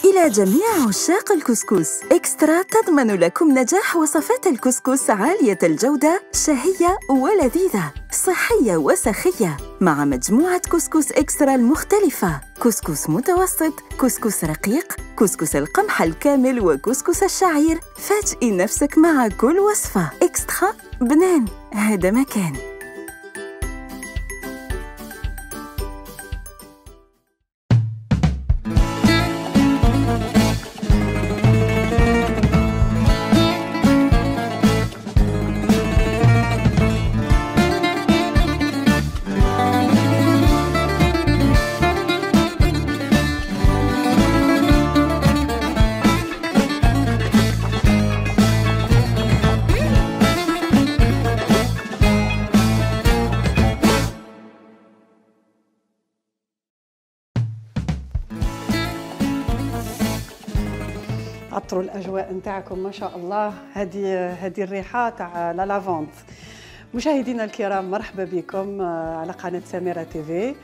إلى جميع عشاق الكسكس، إكسترا تضمن لكم نجاح وصفات الكسكس عالية الجودة، شهية ولذيذة، صحية وسخية، مع مجموعة كسكس إكسترا المختلفة: كسكس متوسط، كسكس رقيق، كسكس القمح الكامل، وكسكس الشعير. فاجئي نفسك مع كل وصفة. إكسترا بنان، هذا مكان. عطروا الاجواء نتاعكم ما شاء الله. هذه الريحه تاع لا لافونت. مشاهدينا الكرام، مرحبا بكم على قناه سميرة تيفي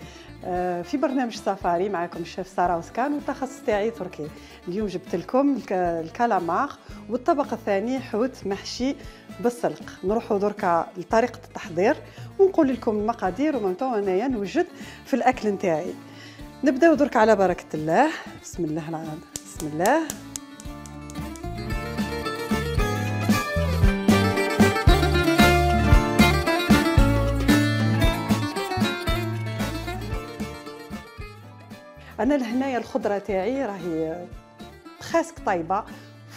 في برنامج سفاري. معكم الشيف ساره وسكان والتخصص تاعي تركي. اليوم جبت لكم الكالامار والطبق الثاني حوت محشي بالسلق. نروحوا دركا لطريقه التحضير ونقول لكم المقادير ومنتو انايا نوجد في الاكل نتاعي. نبداو درك على بركه الله. بسم الله العظيم. بسم الله. انا لهنايا الخضره تاعي راهي خاسك طيبه،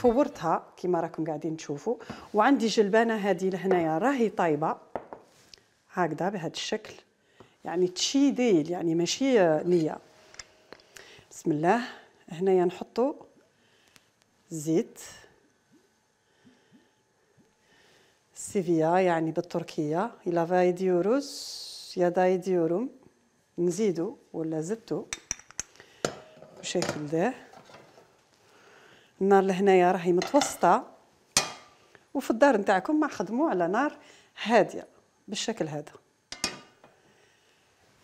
فورتها كيما راكم قاعدين تشوفوا، وعندي جلبانه هذه لهنايا راهي طيبه هكذا بهذا الشكل، يعني تشيديل يعني ماشي نيه. بسم الله. هنايا نحطوا زيت سيفيا يعني بالتركيه، الى فايديوروز يا دايديورم، نزيدوا ولا زدتوا بالشكل ده. النار لهنايا راهي متوسطه، وفي الدار نتاعكم ما خدموا على نار هاديه بالشكل هذا.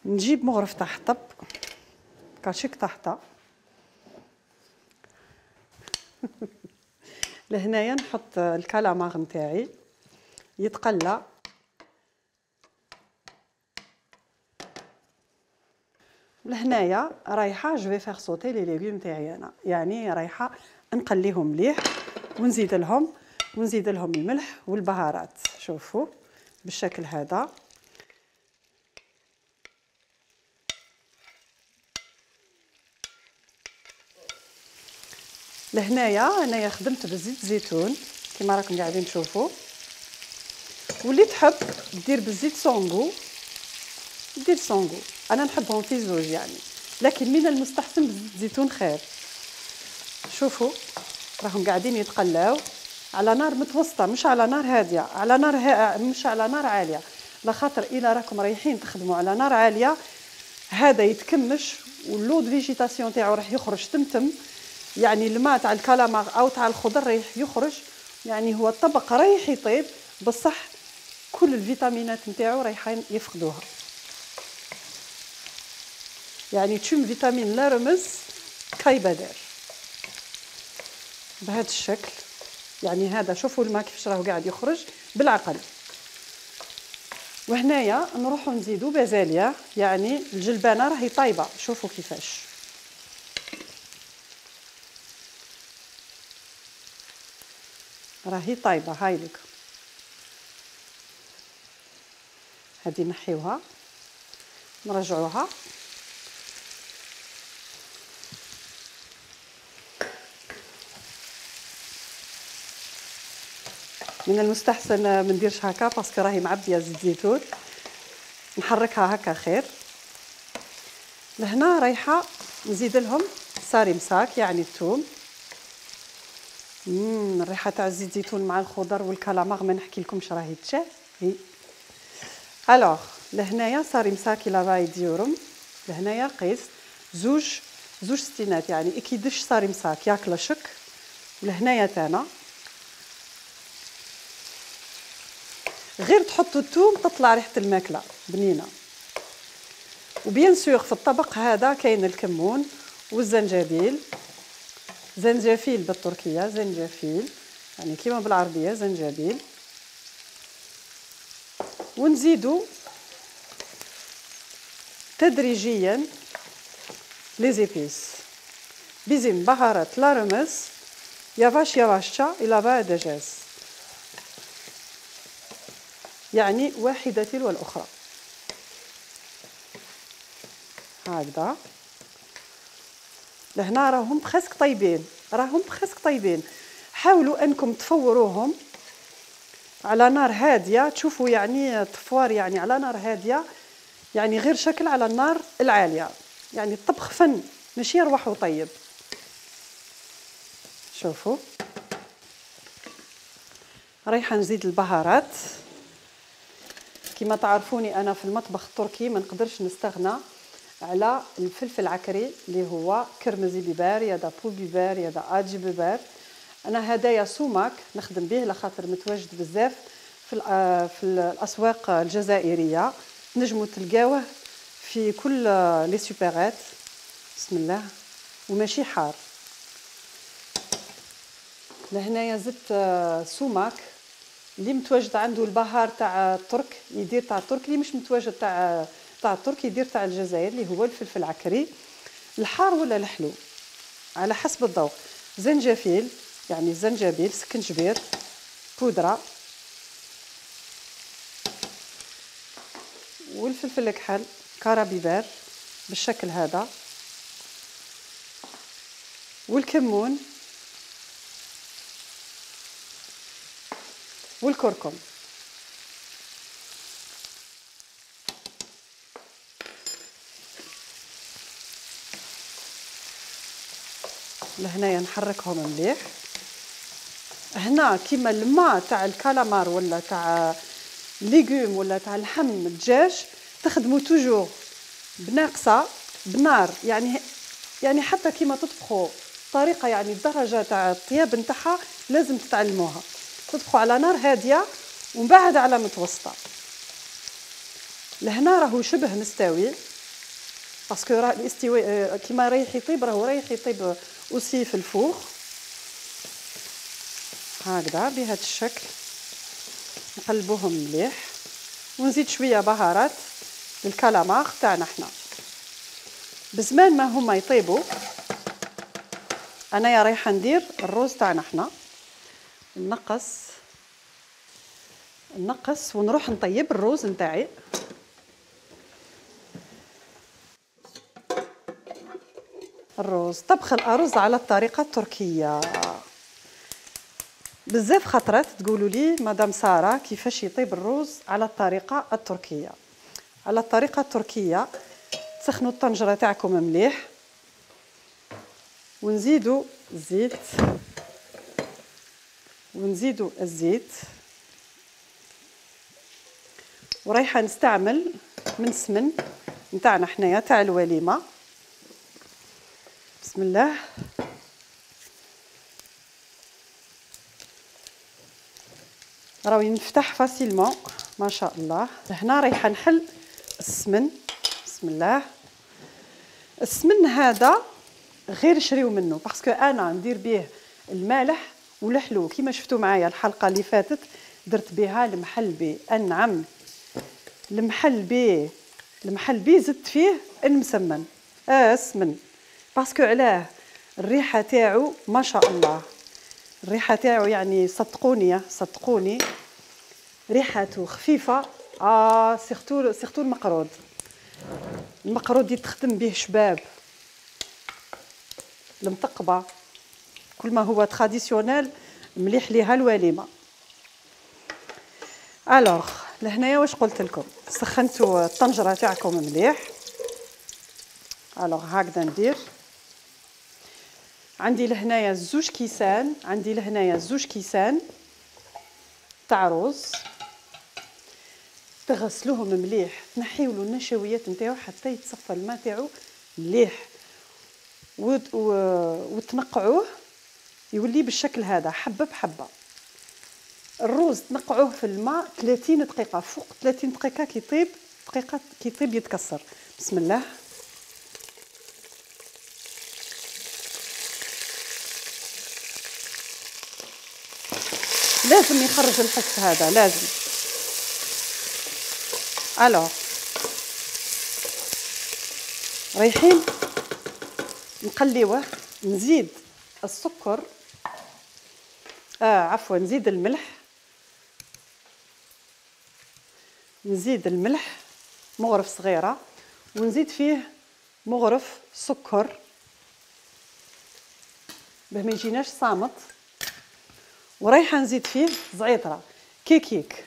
نجيب مغرف تاع حطب كاشيك تحته لهنايا نحط الكالامار نتاعي يتقلى. لهنايا رايحه جو في فيغ سوتي لي ليغوم تاعي انا، يعني رايحه نقليهم مليح ونزيد لهم الملح والبهارات. شوفوا بالشكل هذا. لهنايا انايا خدمت بزيت زيتون كما راكم قاعدين تشوفوا، واللي تحب دير بالزيت سونغو دير سونغو. انا نحبهم في زوج يعني، لكن من المستحسن بزيت زيتون خير. شوفوا راهم قاعدين يتقلاو على نار متوسطه، مش على نار هاديه، على نار مش على نار عاليه، لخاطر الا راكم رايحين تخدموا على نار عاليه هذا يتكمش واللود فيجيتاسيون تاعو راح يخرج تمتم، يعني الماء تاع الكالامار او تاع الخضر رايح يخرج، يعني هو الطبق رايح يطيب بصح كل الفيتامينات نتاعو رايحين يفقدوها، يعني تشم فيتامين لا رمز كاي بدر بهذا الشكل. يعني هذا شوفوا الماء كيفاش راهو قاعد يخرج بالعقل. وهنايا نروحوا نزيدوا بازاليا، يعني الجلبانه راهي طايبه. شوفوا كيفاش راهي طايبه. هاي لك هذه نحيوها نرجعوها. من المستحسن ما نديرش هكا باسكو راهي معبيه زيت زيتون، نحركها هكا خير. لهنا رايحه نزيد لهم صاري مساك يعني الثوم. الريحه تاع الزيت زيتون مع الخضر والكالامار ما نحكي لكمش راهي تشهي. الوغ لهنايا صاري مساك الى رايد يورم، لهنايا قيس زوج ستينات، يعني كيدش صاري مساك ياكل شك. ولهنايا تانا غير تحطوا الثوم تطلع ريحه الماكله بنينه. وبيان سور في الطبق هذا كاين الكمون والزنجبيل زنجفيل بالتركيه، زنجفيل يعني كيما بالعربيه زنجبيل. ونزيدو تدريجيا لي زيبيس. Bizim baharatlarımız yavaş yavaşça ilave edeceğiz. يعني واحدة تلو الأخرى. هكذا. لهنا راهم بخسك طيبين، راهم بخسك طيبين. حاولوا أنكم تفوروهم على نار هادية، تشوفوا يعني طفوار يعني على نار هادية، يعني غير شكل على النار العالية. يعني الطبخ فن ماشي يروح وطيب. شوفوا رايحة نزيد البهارات. كما تعرفوني أنا في المطبخ التركي ما نقدرش نستغنى على الفلفل العكري اللي هو كرمزي بيبار يا دا بول بيبار يا دا آجي بيبار. أنا هدايا سوماك نخدم به لخاطر متواجد بزاف في الأسواق الجزائرية، نجموا تلقاوه في كل لي سوبرات. بسم الله. وماشي حار. لهنايا زدت سوماك اللي متواجد عنده البهار تاع الترك يدير تاع الترك، اللي مش متواجد تاع الترك يدير تاع الجزائر اللي هو الفلفل العكري، الحار ولا الحلو على حسب الذوق. زنجفيل يعني الزنجبيل، سكنجبير، بودرة، والفلفل الكحل كارابيبار بالشكل هذا، والكمون والكركم. لهنايا نحركهم مليح. هنا كيما الماء تاع الكالامار ولا تاع ليغوم ولا تاع اللحم الدجاج تخدموا توجور بناقصه بنار، يعني حتى كيما تطبخوا طريقه يعني الدرجه تاع الطياب نتاعها لازم تتعلموها. تطبخوا على نار هاديه ومن بعد على متوسطه. لهنا راهو شبه مستوي باسكو راه الاستواء كيما رايح يطيب، راهو رايح يطيب اوسي في الفوخ هكذا بهذا الشكل. نقلبوهم مليح ونزيد شويه بهارات للكالامار تاعنا حنا. بزمان ما هما يطيبوا انايا رايحه ندير الروز تاعنا حنا، نقص ونروح نطيب الروز نتاعي. الروز، طبخ الأرز على الطريقة التركية. بزاف خطرات تقولوا لي مدام سارة كيفاش يطيب الروز على الطريقة التركية. على الطريقة التركية تسخنوا الطنجرة تاعكم مليح ونزيدوا الزيت ورايحة نستعمل من السمن نتاعنا حنايا تاع الوليمة. بسم الله. راهو ينفتح فاسيلمون ما شاء الله. هنا رايحه نحل السمن. بسم الله. السمن هذا غير شريو منه باسكو انا ندير به المالح والحلو كيما شفتوا معايا الحلقه اللي فاتت درت بها المحلبي. نعم المحلبي زدت فيه المسمن السمن باسكو علاه الريحه تاعو ما شاء الله. الريحه تاعو يعني صدقوني ريحته خفيفه. سيرتو المقرود يتخدم به شباب، المطقبه، كل ما هو تراديسيونيل مليح ليها الوليمه. الوغ لهنايا واش قلت لكم، سخنتوا الطنجره تاعكم مليح. الوغ هكذا ندير. عندي لهنايا زوج كيسان تاع روز. تغسلوهم مليح، تنحيولو النشويات نتاعو حتى يتصفى الماء تاعو مليح وتنقعوه يولي بالشكل هذا حبه بحبه. الروز تنقعوه في الماء 30 دقيقه، فوق 30 دقيقه كي يطيب يتكسر. بسم الله. لازم يخرج الحس هذا، لازم. الوغ رايحين نقليوه. نزيد السكر، عفوا نزيد الملح، نزيد الملح مغرف صغيرة، ونزيد فيه مغرف سكر باه ما يجيناش صامت، ورايحه نزيد فيه زعيطره كيكيك.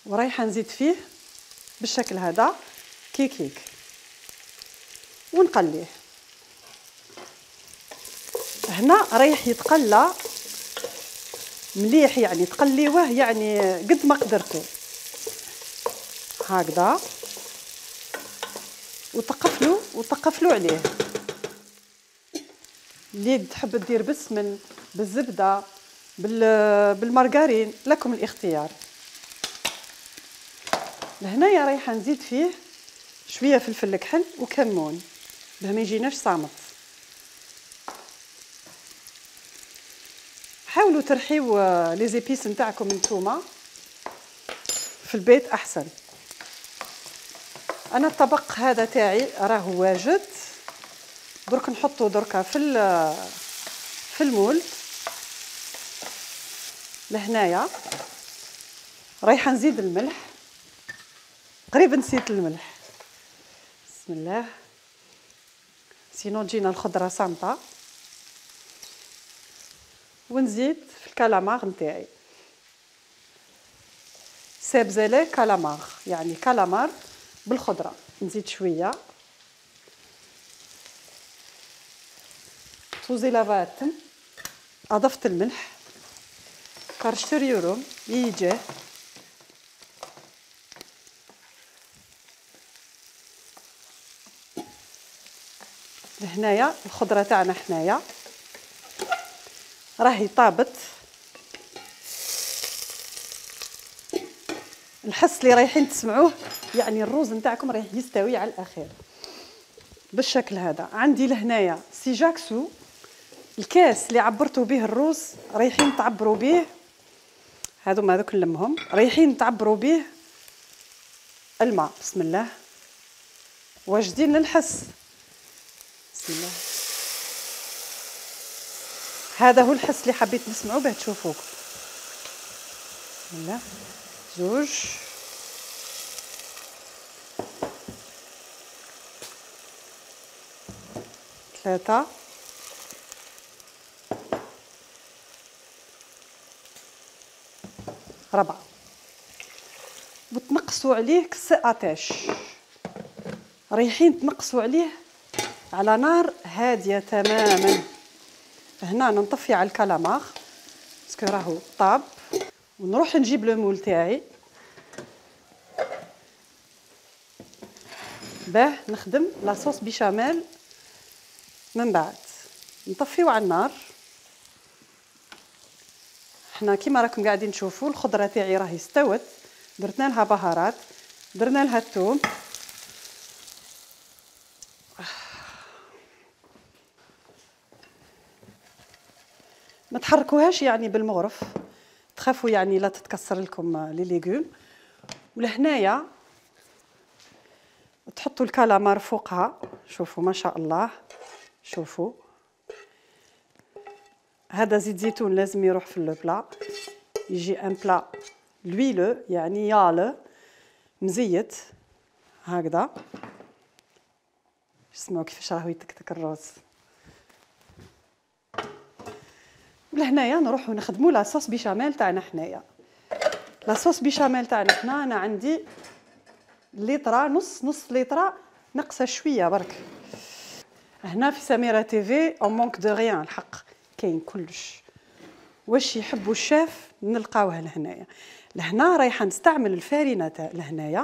ورايحه نزيد فيه بالشكل هذا كيكيك ونقليه. هنا رايح يتقلى مليح، يعني تقليوه يعني قد ما قدرتوا هكذا، وتقفلوا عليه. اللي تحب دير بالسمن، بالزبده، بالمارغرين، لكم الاختيار. لهنايا رايحه نزيد فيه شويه فلفل كحل وكمون باه ما يجيناش صامت. حاولوا ترحيو لي زيبيس نتاعكم نتوما في البيت احسن. انا الطبق هذا تاعي راه واجد، درك نحطو دركا في المول. لهنايا رايحه نزيد الملح، قريب نسيت الملح، بسم الله، سينو تجينا الخضره صامته. ونزيد في الكالامار نتاعي، سابزالي كالامار، يعني كالامار بالخضره. نزيد شويه توزي لافاتم، اضفت الملح، كارشتريورم يجي لهنايا. الخضره تاعنا حنايا راهي طابت. الحس اللي رايحين تسمعوه يعني الروز نتاعكم رايح يستوي على الاخير بالشكل هذا. عندي لهنايا سي جاكسو، الكاس اللي عبرتوا به الروز رايحين تعبروا به، هذوك نلمهم، رايحين تعبروا به الماء. بسم الله، واجدين للحس. بسم الله، هذا هو الحس اللي حبيت نسمعوا به تشوفوه. بسم الله، زوج، ثلاثة، ربعة. وتنقصوا عليه كسي اتاش، رايحين تنقصوا عليه على نار هادية تماما. هنا نطفي على الكالامار باسكو راهو طاب، ونروح نجيب لو مول تاعي باه نخدم لاصوص بيشاميل. من بعد نطفيو على النار. حنا كيما راكم قاعدين تشوفوا الخضره تاعي راهي استوت، درنا لها بهارات، درنا لها الثوم. ما تحركوهاش يعني بالمغرف، تخافوا يعني لا تتكسر لكم لي ليغوم. ولهنايا تحطوا الكالامار فوقها، شوفوا ما شاء الله، شوفوا هذا زيت زيتون لازم يروح في لو بلا، يجي ان بلا لويلو يعني يالو مزيت هكذا. اسمعوا كيفاش راهو يتكتك الروز. ولهنايا نروحو نخدموا لاصوص بيشاميل تاعنا حنايا. لاصوص بيشاميل تاعنا حنا انا عندي لترا، نص لترا ناقصه شويه برك. هنا في سميرة تيفي اون مونك دو ريان، الحق كاين كلش. واش يحبوا الشاف نلقاوه لهنايا. لهنا رايحه نستعمل الفارينه تاع لهنايا.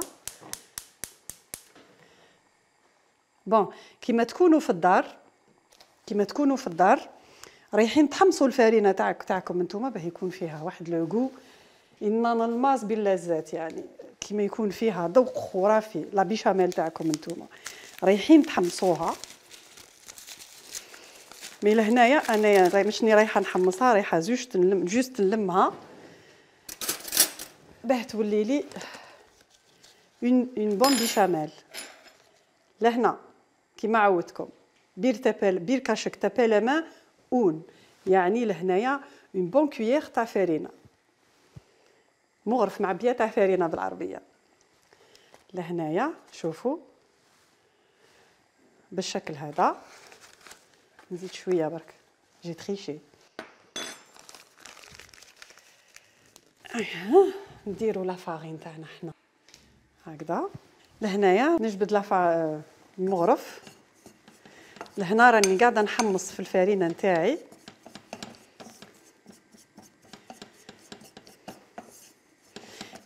بون كيما تكونوا في الدار رايحين تحمصوا الفارينه تاعكم انتوما باه يكون فيها واحد لوغو ان الماس باللذات، يعني كيما يكون فيها ذوق خرافي. لا بيشاميل تاعكم انتوما رايحين تحمصوها مي لهنايا انايا ماشني رايحه نحمصها، رايحه جوست نلمها باه تولي لي اون بون بيشاميل. لهنا كيما عودتكم بير كاشك تابي لا مان اون، يعني لهنايا اون بون كويير تاع فرينه، مغرف معبيه تاع فرينه بالعربيه. لهنايا شوفوا بالشكل هذا، نزيد شويه برك جي تريشي. نديروا لا فارين تاعنا حنا هكذا. لهنايا نجبد المغرف. لهنا راني قاعده نحمص في الفرينه نتاعي.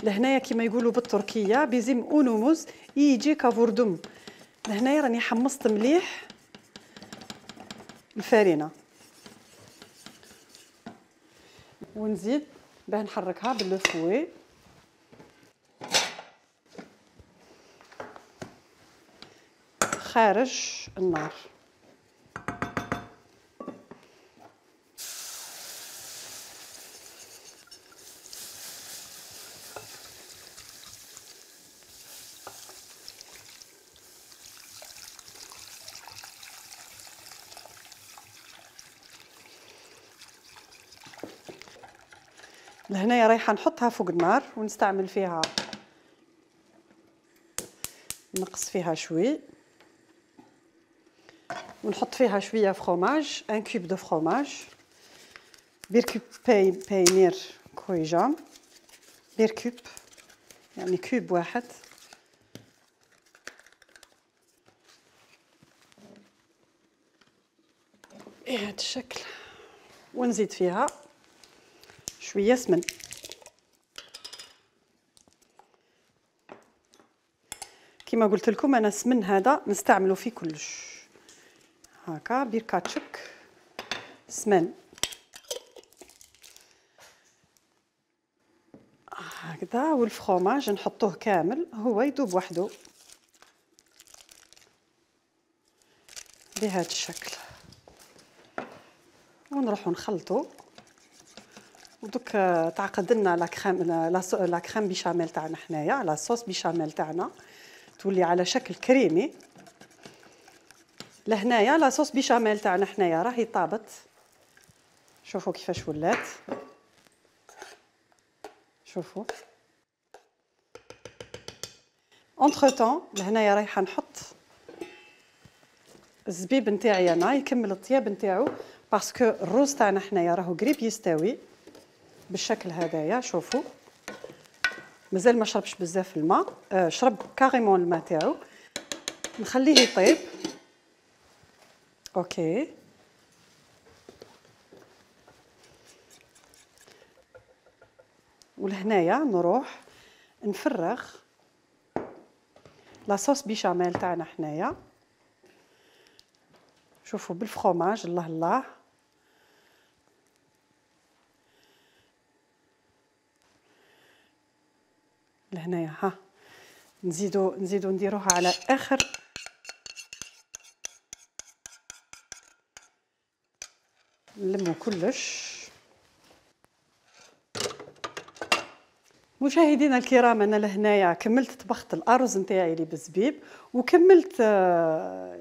لهنايا كما يقولوا بالتركيه بيزم اونوموز يجي كافوردم. لهنايا راني حمصت مليح الفرينه، ونزيد باه نحركها بالفوي. خارج النار. لهنايا رايحه نحطها فوق النار ونستعمل فيها، نقص فيها شوي ونحط فيها شويه فروماج، ان كوب دو فروماج، بير كوب باينير كويجام، بير كوب يعني كوب واحد. بهذا الشكل. ونزيد فيها شويه سمن. كما قلت لكم انا السمن هذا نستعمله في كلش. هكا بير كاتشك سمن هكذا، والفرomage نحطوه كامل هو يذوب وحده بهذا الشكل، ونروحو نخلطو. ودوك تعقد لنا لا كريم بيشاميل تاعنا حنايا، لا صوص بيشاميل تاعنا تولي على شكل كريمي. لهنايا لا صوص بيشاميل تاعنا حنايا راهي طابت، شوفوا كيفاش ولات، شوفوا. اونتر طون لهنايا رايحه نحط الزبيب نتاعي انا يكمل الطياب نتاعو، باسكو الروز تاعنا حنايا راهو قريب يستوي بالشكل هذايا. شوفوا مازال ما شربش بزاف الماء، شرب كاريمون الماء تاعو، نخليه يطيب. اوكي ولهنايا نروح نفرغ لاصوص بيشاميل تاعنا حنايا. شوفوا بالفرomage الله الله. لهنايا ها نزيدو نديروها على اخر نلمو كلش. مشاهدينا الكرام انا لهنايا كملت طبخت الارز نتاعي اللي بالزبيب، وكملت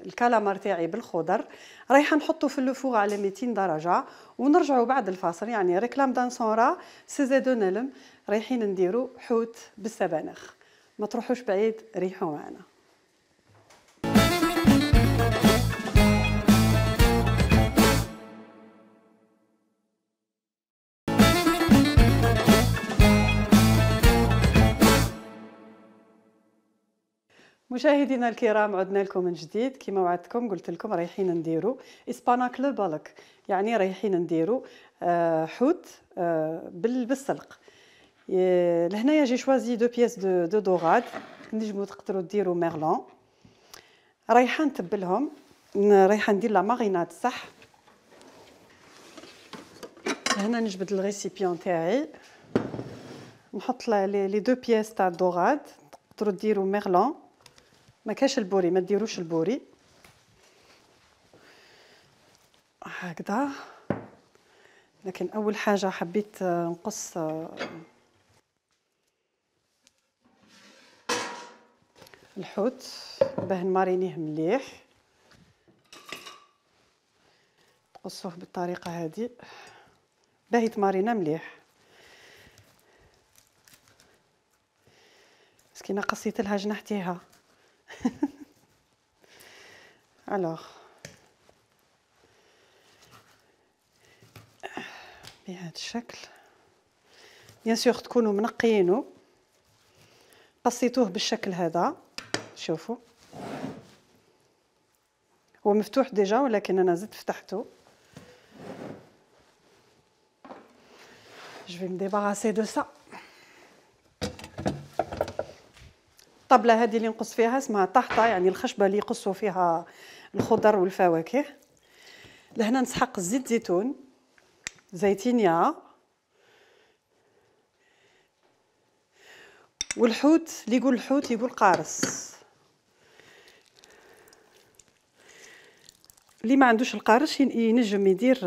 الكالامار تاعي بالخضر. رايحه نحطه في الفوغ على 200 درجه ونرجعوا بعد الفاصل. يعني ريكلام دان سونرا سي دو نلم رايحين نديروا حوت بالسبانخ. ما تروحوش بعيد، ريحوا معنا. مشاهدينا الكرام عدنا لكم من جديد. كما وعدتكم قلت لكم رايحين نديروا اسباناك بالك، يعني رايحين نديروا حوت بالسلق. لهنايا جي شوازي دو بياس دو دوراد، نجمو تقدروا ديروا ميرلون. رايحه نتبلهم، رايحه ندير لا ماريناد صح. هنا نجبد الريسيبيون تاعي، نحط لي دو بياس تاع الدوراد. تقدروا ديروا ميرلون، ما كاش البوري ما ديروش البوري. هكذا. لكن اول حاجه حبيت نقص الحوت باه نمارينيه مليح. تقصوه بالطريقه هذه باه يتمارينا مليح. مسكينه قصيت لها جنحتيها. الوغ بهذا الشكل. بيان سور تكونوا منقيينه. قصيتوه بالشكل هذا. شوفوا هو مفتوح ديجا ولكن انا زدت فتحته. Je vais me débarrasser de ça. الطبلة هذه اللي نقص فيها اسمها طحطة، يعني الخشبة اللي يقصوا فيها الخضر والفواكه. لهنا نسحق زيت زيتون، زيتينية، والحوت اللي يقول الحوت يقول قارص. اللي ما عندوش القارص ينجم يدير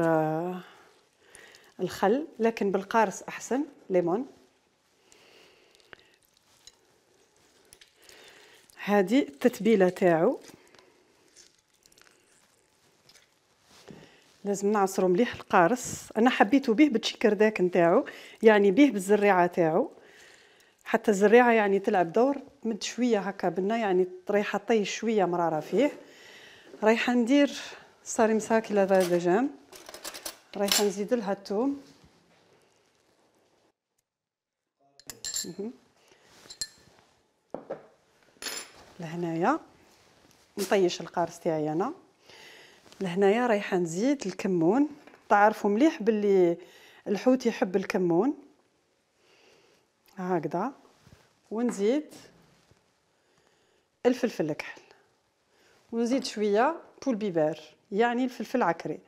الخل، لكن بالقارص احسن. ليمون. هذه التتبيله تاعو. لازم نعصروا مليح القارص. انا حبيته به بالشكرداك نتاعو، يعني به بالزريعه تاعو، حتى الزريعه يعني تلعب دور. مد شويه هكا بنا، يعني رايحه طي شويه مراره فيه. رايحه ندير صاري مساكي لافادجان، رايحه نزيد لها الثوم. لهنايا نطيش القارص تاعي انا. لهنايا رايحه نزيد الكمون. تعرفوا مليح باللي الحوت يحب الكمون. هكذا. ونزيد الفلفل الكحل، ونزيد شويه بول بيبر، يعني الفلفل العكري.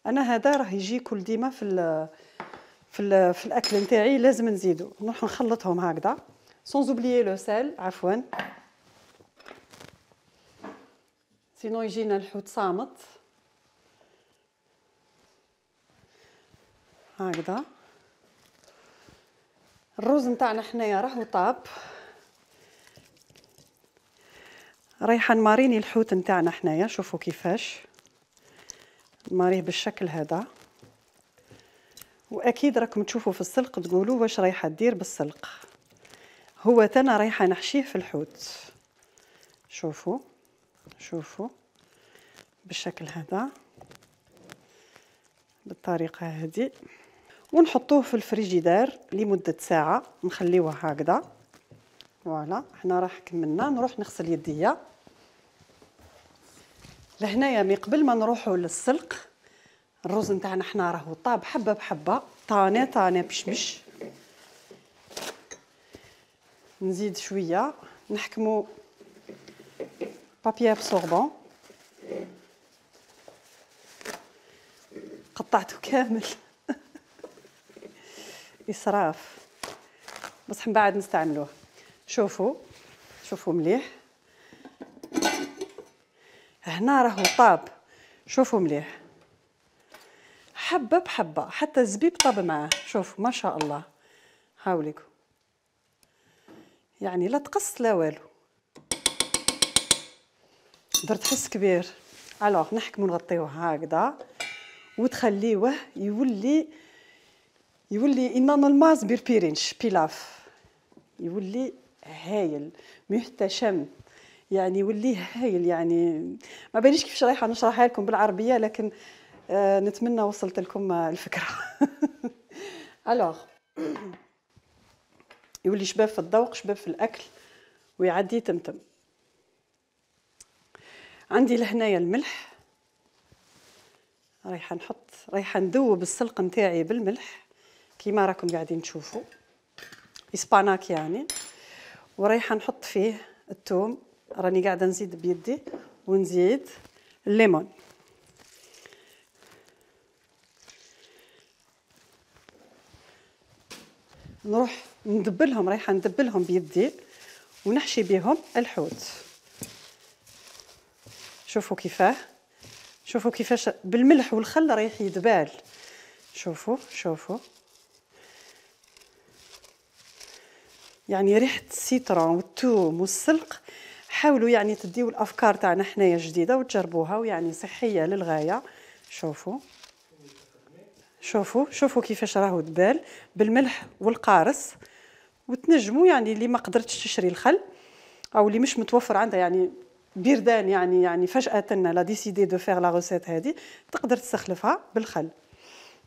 انا هذا راه يجي كل ديما في الاكل نتاعي لازم نزيدو. نروح نخلطهم هكذا سونز اوبليي لو سال، عفوا، سينو يجينا الحوت صامت. هكذا. الروز نتاعنا حنايا راهو طاب. رايحه نماريني الحوت نتاعنا حنايا. شوفوا كيفاش نماريه بالشكل هذا. واكيد راكم تشوفوا في السلق تقولوا واش رايحه دير بالسلق. هو تنا رايحه نحشيه في الحوت. شوفوا شوفوا بالشكل هذا، بالطريقه هذه، ونحطوه في الفريجيدار لمده ساعه. نخليوه هكذا. فوالا حنا راح كملنا. نروح نغسل يديا. لهنايا مي قبل ما نروحوا للسلق، الرز نتاعنا حنا راهو طاب حبه بحبه، طاني طاني بشمش. نزيد شويه، نحكموا بابي ابسوربون. قطعته كامل. اسراف، بصح من بعد نستعملوه. شوفوا شوفوا مليح. هنا راهو طاب. شوفوا مليح حبه بحبه، حتى الزبيب طاب معاه. شوفوا ما شاء الله. هاوليكم، يعني لا تقص لا والو. درت حس كبير. الوغ نحكموا نغطيوه هكذا وتخليوه يولي انان الماز بيربيرينش بيلاف. يولي هايل محتشم، يعني يولي هايل. يعني ما باليش كيفاش رايحه نشرحها لكم بالعربيه، لكن نتمنى وصلت لكم الفكره. الوغ يولي شباب في الذوق، شباب في الاكل، ويعدي تمتم. عندي لهنايا الملح. رايحه ندوب السلق نتاعي بالملح كيما راكم قاعدين تشوفوا، اسباناك يعني. ورايحه نحط فيه الثوم، راني قاعده نزيد بيدي، ونزيد الليمون. نروح ندبلهم، رايحه ندبلهم بيدي ونحشي بهم الحوت. شوفوا كيفاه، شوفوا كيفاش بالملح والخل رايح يدبال. شوفوا شوفوا يعني ريحه السيترون والثوم والسلق. حاولوا يعني تديو الافكار تاعنا حنايا جديده وتجربوها، ويعني صحيه للغايه. شوفوا شوفوا شوفوا كيفاش راهو دبال بالملح والقارص. وتنجموا يعني اللي ما قدرتش تشري الخل او اللي مش متوفر عندها يعني بردان، يعني فجاه لا ديسيدي دو فير لا روسيت هذه، تقدر تستخلفها بالخل.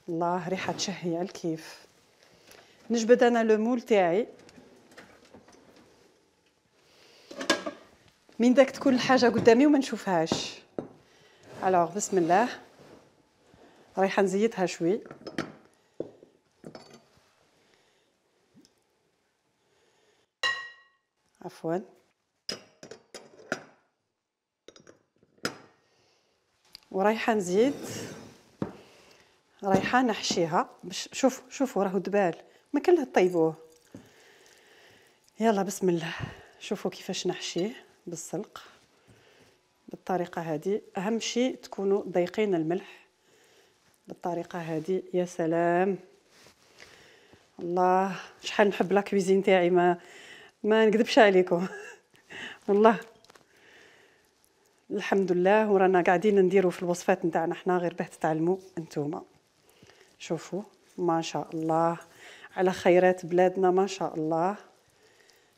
الله ريحه تشهي على الكيف. نجبد انا لو مول تاعي من داك تكون الحاجه قدامي وما نشوفهاش. الوغ بسم الله، رايحه نزيدها شوي. عفوا ورايحه نزيد، رايحه نحشيها باش شوفوا راهو دبال، ما كان طيبوه. يلا بسم الله. شوفوا كيفاش نحشيه بالسلق بالطريقه هذه. اهم شيء تكونوا ضايقين الملح بالطريقه هذه. يا سلام، الله شحال نحب لا كويزين تاعي، ما نكذبش عليكم والله الحمد لله. ورانا قاعدين نديروا في الوصفات نتاعنا حنا غير باه تتعلموا انتوما. شوفوا ما شاء الله على خيرات بلادنا، ما شاء الله.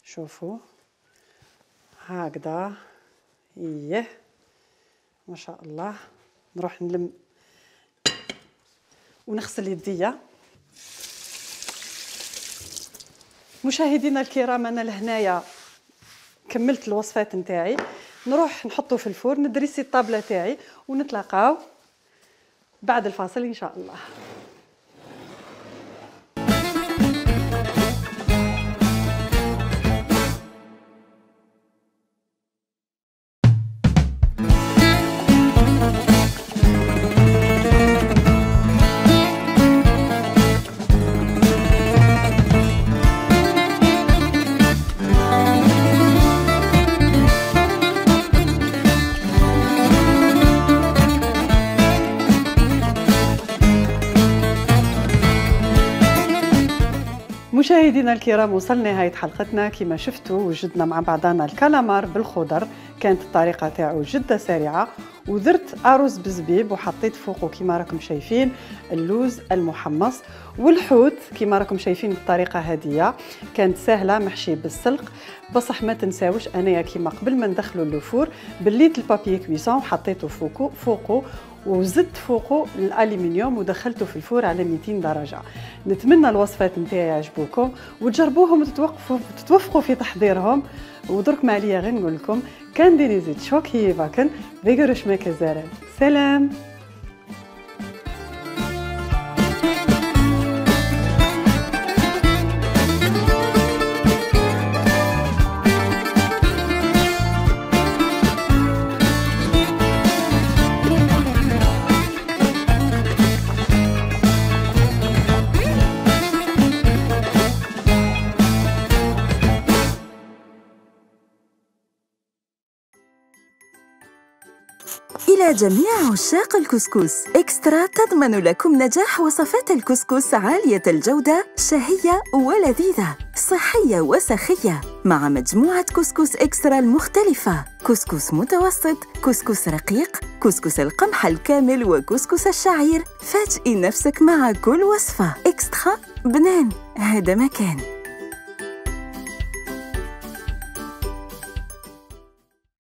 شوفوا هكذا، ايه ما شاء الله. نروح نلم ونغسل يديا. مشاهدينا الكرام، انا لهنايا كملت الوصفات نتاعي. نروح نحطه في الفرن، ندريسي الطابله تاعي، ونتلاقاو بعد الفاصل ان شاء الله. مشاهدينا الكرام، وصلنا نهاية حلقتنا. كما شفتوا وجدنا مع بعضنا الكالامار بالخضر، كانت الطريقة تاعو جدا سريعة. ودرت أرز بزبيب وحطيت فوقه كما راكم شايفين اللوز المحمص، والحوت كما راكم شايفين بالطريقة هذه. كانت سهلة محشي بالسلق. بصح ما تنساوش انايا كما قبل ما ندخلو اللوفور بليت البابي كويسون وحطيته فوقه وزدت فوقه الالومنيوم ودخلته في الفور على 200 درجه. نتمنى الوصفات نتاعي يعجبوكم وتجربوهم وتتوفقوا في تحضيرهم. ودرك ما عليا غير نقول لكم كان ديني زيت شوكي باكن بيغرش ما كزارن. سلام. إلى جميع عشاق الكسكس، إكسترا تضمن لكم نجاح وصفات الكسكس عالية الجودة، شهية ولذيذة، صحية وسخية، مع مجموعة كسكس إكسترا المختلفة: كسكس متوسط، كسكس رقيق، كسكس القمح الكامل، وكسكس الشعير. فاجئي نفسك مع كل وصفة. إكسترا بنان، هذا مكان.